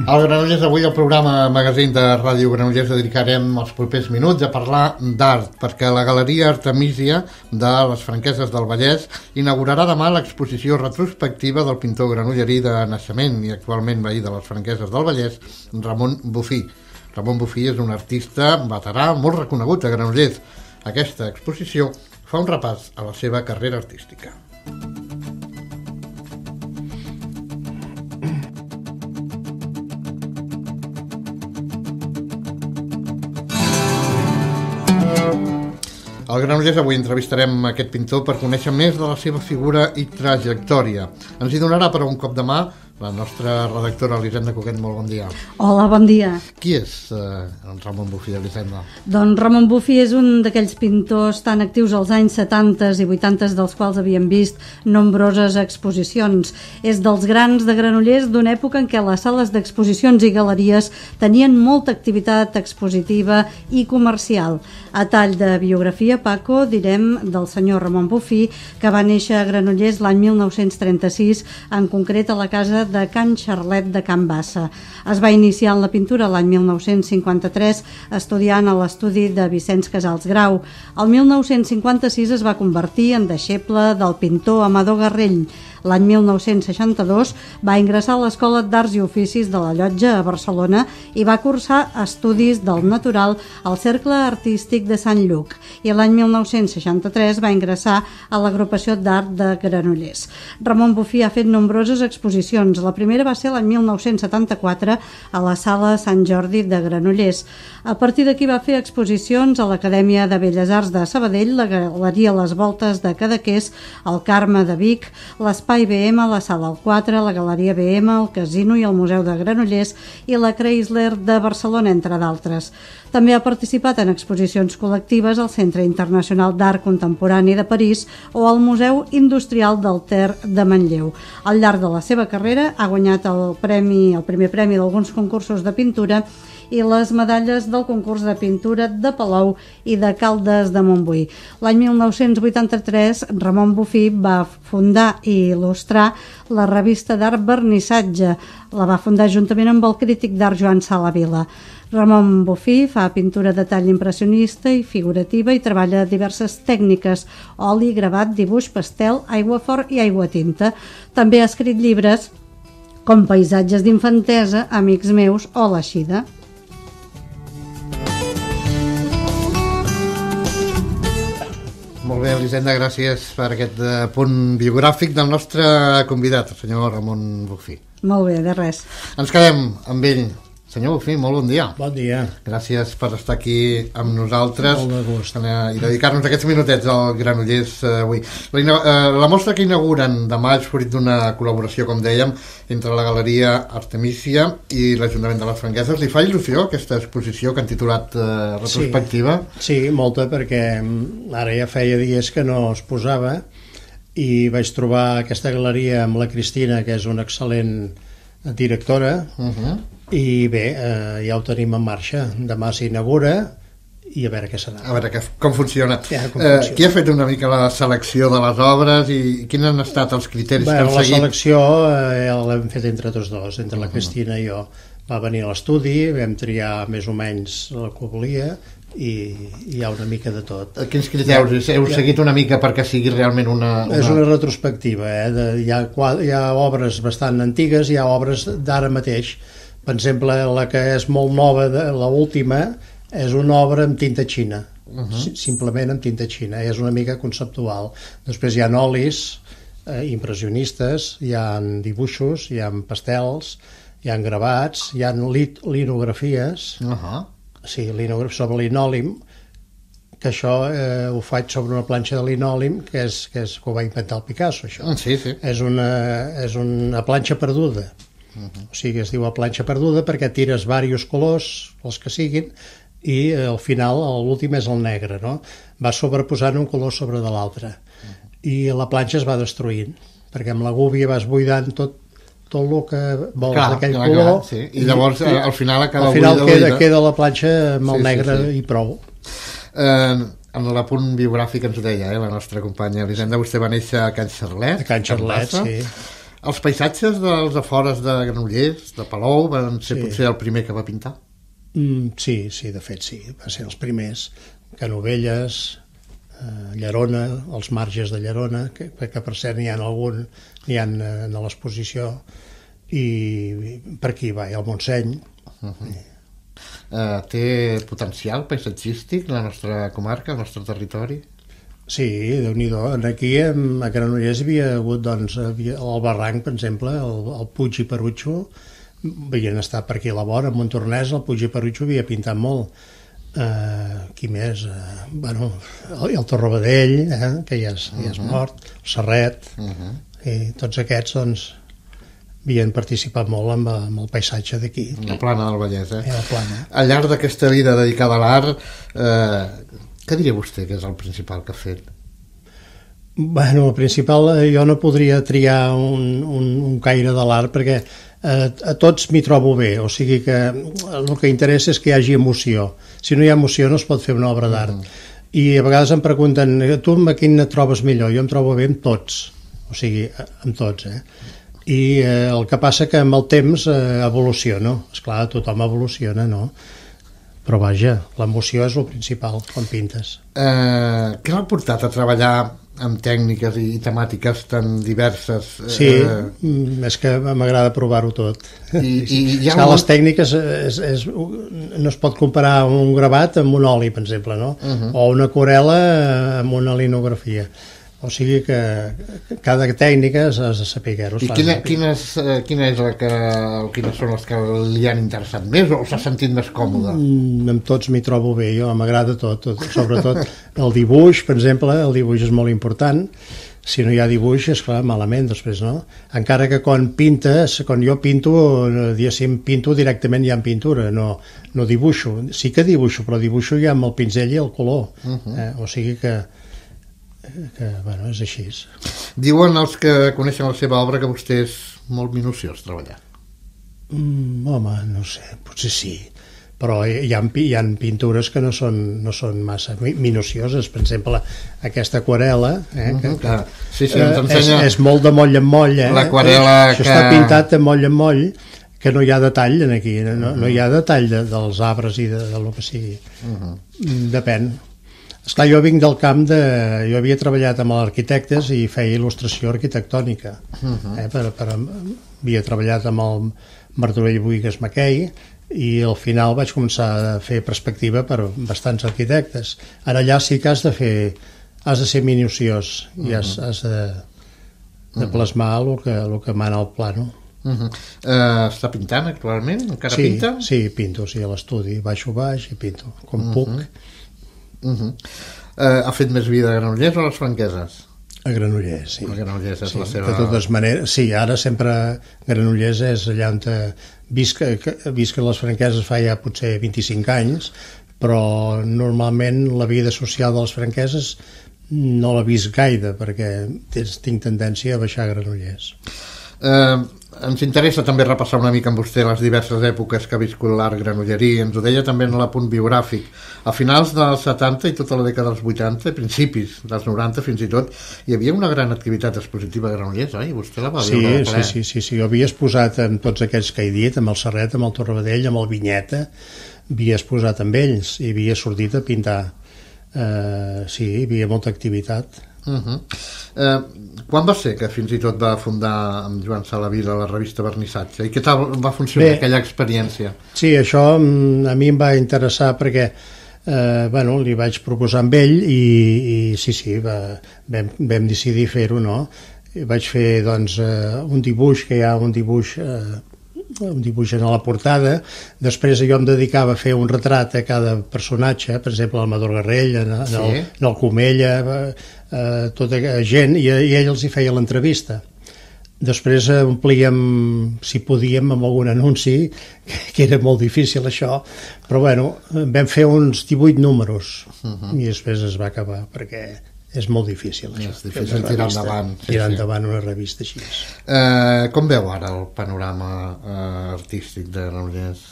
Al Granollers, avui al programa Magazín de Ràdio Granollers dedicarem els propers minuts a parlar d'art, perquè la Galeria Artemísia de les Franqueses del Vallès inaugurarà demà l'exposició retrospectiva del pintor granollerí de naixement i actualment veí de les Franqueses del Vallès, Ramon Bufí. Ramon Bufí és un artista veterà molt reconegut a Granollers. Aquesta exposició fa un repàs a la seva carrera artística. Al Granollers avui entrevistarem aquest pintor per conèixer més de la seva figura i trajectòria. Ens hi donarà però un cop de mà la nostra redactora Elisenda Cuquet. Molt bon dia. Hola, bon dia. Qui és Ramon Bufí, Elisenda? Doncs Ramon Bufí és un d'aquells pintors tan actius als anys 70 i 80 dels quals havíem vist nombroses exposicions. És dels grans de Granollers d'una època en què les sales d'exposicions i galeries tenien molta activitat expositiva i comercial. A tall de biografia, Paco, direm del senyor Ramon Bufí, que va néixer a Granollers l'any 1936, en concret a la casa de Can Xarlet de Can Bassa. Es va iniciar en la pintura l'any 1953 estudiant a l'estudi de Vicenç Casals Grau. El 1956 es va convertir en deixeble del pintor Amador Garrell. L'any 1962 va ingressar a l'Escola d'Arts i Oficis de la Llotja a Barcelona i va cursar estudis del natural al Cercle Artístic de Sant Lluc, i l'any 1963 va ingressar a l'Agrupació d'Art de Granollers. Ramon Bufí ha fet nombroses exposicions. La primera va ser l'any 1974 a la Sala Sant Jordi de Granollers. A partir d'aquí va fer exposicions a l'Acadèmia de Belles Arts de Sabadell, la Galeria Les Voltes de Cadaqués, el Carme de Vic, l'Espai BM, la Sala al 4, la Galeria BM, el Casino i el Museu de Granollers i la Chrysler de Barcelona, entre d'altres. També ha participat en exposicions col·lectives al Centre Internacional d'Art Contemporani de París o al Museu Industrial del Ter de Manlleu. Al llarg de la seva carrera ha guanyat el primer premi d'alguns concursos de pintura i les medalles del concurs de pintura de Palou i de Caldes de Montbui. L'any 1983, Ramon Bufí va fundar i il·lustrar la revista d'art Vernissatge. La va fundar juntament amb el crític d'art Joan Salavila. Ramon Bufí fa pintura de tall impressionista i figurativa i treballa diverses tècniques: oli, gravat, dibuix, pastel, aiguafort i aiguatinta. També ha escrit llibres com Paisatges d'infantesa, Amics meus o L'Eixida. Molt bé, Elisenda, gràcies per aquest punt biogràfic del nostre convidat, el senyor Ramon Bufí. Molt bé, de res. Ens quedem amb ell. Senyor Bufí, molt bon dia. Bon dia. Gràcies per estar aquí amb nosaltres. Molt de gust. I dedicar-nos aquests minutets al Granollers avui. La mostra que inauguren demà és fruit d'una col·laboració, com dèiem, entre la Galeria Artemísia i l'Ajuntament de les Franqueses. Li fa il·lusió aquesta exposició que han titulat retrospectiva? Sí, molta, perquè ara ja feia dies que no es posava i vaig trobar aquesta galeria amb la Cristina, que és una excel·lent directora, i bé, ja ho tenim en marxa. Demà s'inaugura i a veure què serà. A veure com funciona. Qui ha fet una mica la selecció de les obres i quins han estat els criteris que han seguit? La selecció l'hem fet entre tots dos, entre la Cristina i jo. Va venir a l'estudi, vam triar més o menys el que volia i hi ha una mica de tot. Quins criteris heu seguit una mica perquè sigui realment una... És una retrospectiva, hi ha obres bastant antigues, hi ha obres d'ara mateix. Per exemple, la que és molt nova, l'última, és una obra amb tinta xina, simplement amb tinta xina, és una mica conceptual. Després hi ha olis impressionistes, hi ha dibuixos, hi ha pastels, hi ha gravats, hi ha linografies, sí, sobre linòlim, que això ho faig sobre una planxa de linòlim que ho va inventar el Picasso, això. Sí. És una planxa perduda. O sigui, es diu a planxa perduda perquè tires diversos colors, els que siguin, i al final l'últim és el negre, no? Va sobreposant un color sobre de l'altre i la planxa es va destruint perquè amb la gúbia vas buidant tot el que vols d'aquell color. Sí. I llavors al final queda la planxa amb el negre i prou. En l'apunt biogràfic ens ho deia la nostra companya Elisenda, vostè va néixer a Can Xarlet. A Can Xarlet, sí. Els paisatges dels afores de Granollers, de Palou, van ser potser el primer que va pintar? Sí, de fet sí, van ser els primers. Canovelles, Llerona, els marges de Llerona, que per cert n'hi ha a l'exposició, i per aquí va, al Montseny. Té potencial paisatgístic la nostra comarca, el nostre territori? Sí, Déu-n'hi-do. Aquí a Granollers hi havia hagut el barranc, per exemple, el Puig i Perutxo, havien estat per aquí a la vora, a Montornès, el Puig i Perutxo havia pintat molt. Qui més? El Torrabadell, que ja és mort, el Serret, i tots aquests havien participat molt amb el paisatge d'aquí. La plana del Vallès, La plana. Al llarg d'aquesta vida dedicada a l'art, què diria vostè que és el principal que ha fet? El principal, jo no podria triar un caire de l'art perquè a tots m'hi trobo bé, o sigui que el que interessa és que hi hagi emoció. Si no hi ha emoció no es pot fer una obra d'art. I a vegades em pregunten, tu amb quin et trobes millor? Jo em trobo bé amb tots, o sigui, amb tots, I el que passa que amb el temps evoluciono. Esclar, tothom evoluciona, no? Però vaja, l'emoció és el principal quan pintes. Què l'ha portat a treballar amb tècniques i temàtiques tan diverses? Sí, és que m'agrada provar-ho tot. I les tècniques no es pot comparar un gravat amb un oli, per exemple, no? O una aquarel·la amb una linografia. O sigui que cada tècnica has de saber-ho. I quines són les que li han interessat més o s'ha sentit més còmode? Amb tots m'hi trobo bé, jo m'agrada tot, sobretot el dibuix, per exemple, el dibuix és molt important. Si no hi ha dibuix, esclar, malament després, no? Encara que quan jo pinto, pinto directament ja en pintura, no dibuixo. Sí que dibuixo, però dibuixo ja amb el pinzell i el color. O sigui que és així. Diuen els que coneixen la seva obra que vostè és molt minuciós treballant. Home, no sé, potser sí, però hi ha pintures que no són massa minucioses. Per exemple, aquesta aquarel·la és molt de moll en moll, això està pintat de moll en moll, que no hi ha detall aquí, no hi ha detall dels arbres i del que sigui. Depèn. Esclar, jo vinc del camp jo havia treballat amb els arquitectes i feia il·lustració arquitectònica. Havia treballat amb el Martorell Boïgues Mackay i al final vaig començar a fer perspectiva per bastants arquitectes. Ara allà sí que has de ser minuciós i has de plasmar el que mana el plano. Està pintant actualment? Encara pinta? Sí, pinto, a l'estudi, baixo baix i pinto, com puc. Ha fet més vida a Granollers o a les Franqueses? A Granollers, sí. A Granollers és la seva... De totes maneres, sí, ara sempre Granollers és allà on visc a les Franqueses fa ja potser 25 anys, però normalment la vida social de les Franqueses no l'he vist gaire perquè tinc tendència a baixar a Granollers. Ens interessa també repassar una mica amb vostè les diverses èpoques que ha viscut l'art granollerí. Ens ho deia també en l'apunt biogràfic. A finals dels 70 i tota la dècada dels 80, principis dels 90 fins i tot, hi havia una gran activitat expositiva a Granollers, oi? Vostè la va veure de ple. Sí. Jo havia exposat amb tots aquells que he dit, amb el Serret, amb el Torrabadell, amb el Vinyeta, havia exposat amb ells i havia sortit a pintar. Sí, hi havia molta activitat. Quan va ser que fins i tot va fundar amb Joan Salavila la revista Vernissatge i què tal va funcionar aquella experiència? Sí, això a mi em va interessar perquè li vaig proposar amb ell i sí, vam decidir fer-ho, no? Vaig fer un dibuix, que hi ha un dibuix en la portada. Després jo em dedicava a fer un retrat a cada personatge, per exemple el Amador Garrell, en el Comella, tota gent, i ell els hi feia l'entrevista. Després omplíem, si podíem, amb algun anunci, que era molt difícil això, però vam fer uns 18 números i després es va acabar perquè és molt difícil això. És difícil tirar endavant. Tirar endavant una revista així. Com veu ara el panorama artístic de Granollers?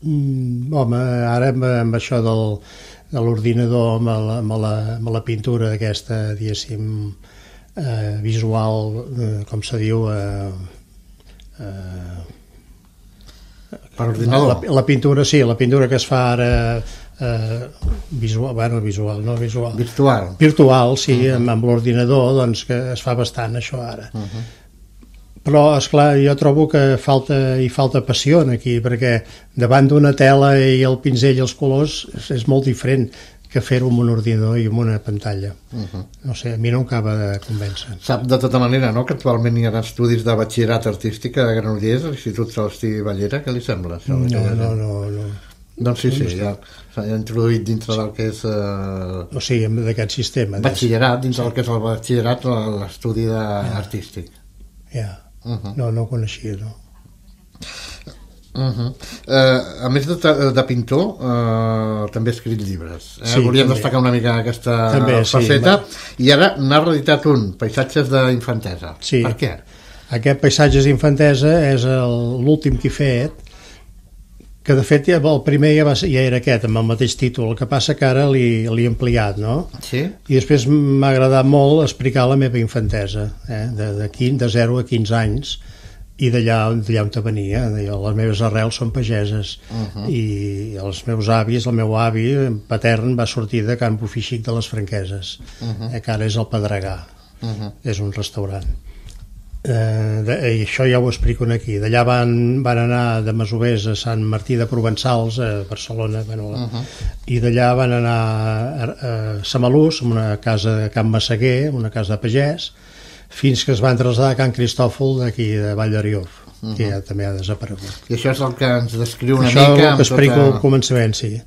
Home, ara amb això de l'ordinador, amb la pintura aquesta, diguéssim, visual, com se diu, Per ordinador? La pintura, sí, la pintura que es fa ara virtual, sí, amb l'ordinador, doncs que es fa bastant això ara. Però, esclar, jo trobo que falta passió aquí, perquè davant d'una tela i el pinzell i els colors és molt diferent que fer-ho amb un ordinador i amb una pantalla. No sé, a mi no em acaba de convèncer. Sap de tota manera, no?, que actualment hi ha estudis de batxillerat artístic a Granollers, a l'Institut Celestí Ballera. Què li sembla? No. Doncs sí, ja s'ha introduït dintre del que és... O sigui, d'aquest sistema. Batxillerat, dintre del que és el batxillerat, l'estudi artístic. Ja, no ho coneixia, no. A més de pintor, també ha escrit llibres. Sí, volíem també destacar una mica aquesta també, faceta. I ara n'ha reeditat un, Paisatges d'infantesa. Sí. Per què? Aquest Paisatges d'infantesa és l'últim que he fet, que de fet el primer ja era aquest, amb el mateix títol, el que passa que ara l'he ampliat, no? Sí. I després m'ha agradat molt explicar la meva infantesa, de 0 a 15 anys, i d'allà on venia. Les meves arrels són pageses, i els meus avis, el meu avi patern va sortir de Can Bofixic de les Franqueses, que ara és el Pedregà, és un restaurant. I això ja ho explico aquí. D'allà van anar de masovers a Sant Martí de Provençals, a Barcelona, i d'allà van anar a Samalús, en una casa de Can Massaguer, una casa de pagès, fins que es van traslladar a Can Cristòfol d'aquí de Vall d'Ariof, que ja també ha desaparegut. I això és el que ens descriu una mica... Això és el que explico al començament, sí.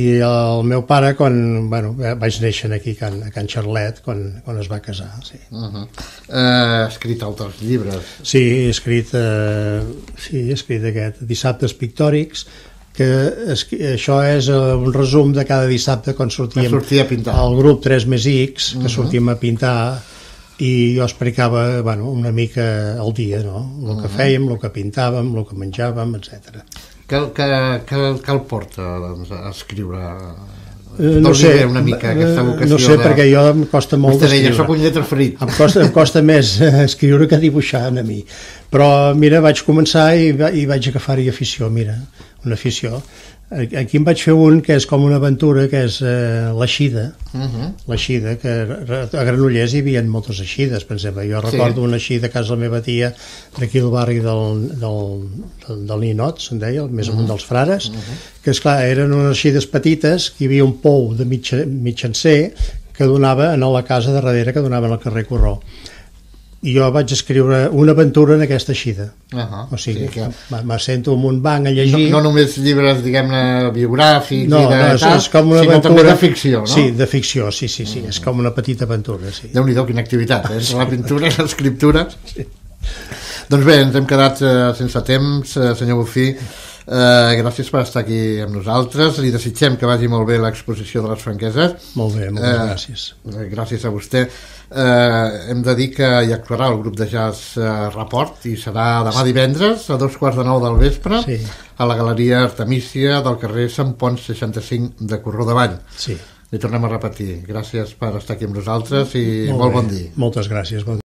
I el meu pare, quan vaig néixer aquí a Can Xarlet, quan es va casar, sí. Ha escrit altres llibres? Sí, he escrit aquest, Dissabtes pictòrics, que això és un resum de cada dissabte quan sortíem al grup 3+X, que sortíem a pintar, i jo explicava una mica al dia, no? El que fèiem, el que pintàvem, el que menjàvem, etc. Què el porta a escriure? No sé, una mica aquesta vocació. No sé, perquè jo em costa molt d'escriure. Soc un lletraferit. Em costa més escriure que dibuixar a mi. Però mira, vaig començar i vaig agafar-hi afició, una afició. Aquí em vaig fer un que és com una aventura, que és l'eixida. L'eixida, que a Granollers hi havia moltes eixides, per exemple. Jo recordo una eixida a casa de la meva tia, d'aquí al barri del Ninot, se'n deia, més amunt dels Frares, que esclar, eren unes eixides petites, que hi havia un pou de mitjancer que donava a la casa de darrere, que donava al carrer Corró. I jo vaig escriure una aventura en aquesta eixida. O sigui, m'assento en un banc a llegir. No només llibres, diguem-ne, biogràfics, no, és com una aventura, sinó també de ficció, no? Sí, de ficció, sí, és com una petita aventura, sí. Déu-n'hi-do, quina activitat, la pintura, l'escriptura. Doncs bé, ens hem quedat sense temps, senyor Bufí. Gràcies per estar aquí amb nosaltres. Li desitgem que vagi molt bé l'exposició de les Franqueses. Molt bé, moltes gràcies. Gràcies a vostè. Hem de dir que hi actuarà el grup de jazz Rapport, i serà demà divendres a 8:45 del vespre a la Galeria Artemísia del carrer Sant Pons 65 de Corró de Vall. Li tornem a repetir, gràcies per estar aquí amb nosaltres i molt bon dia. Moltes gràcies.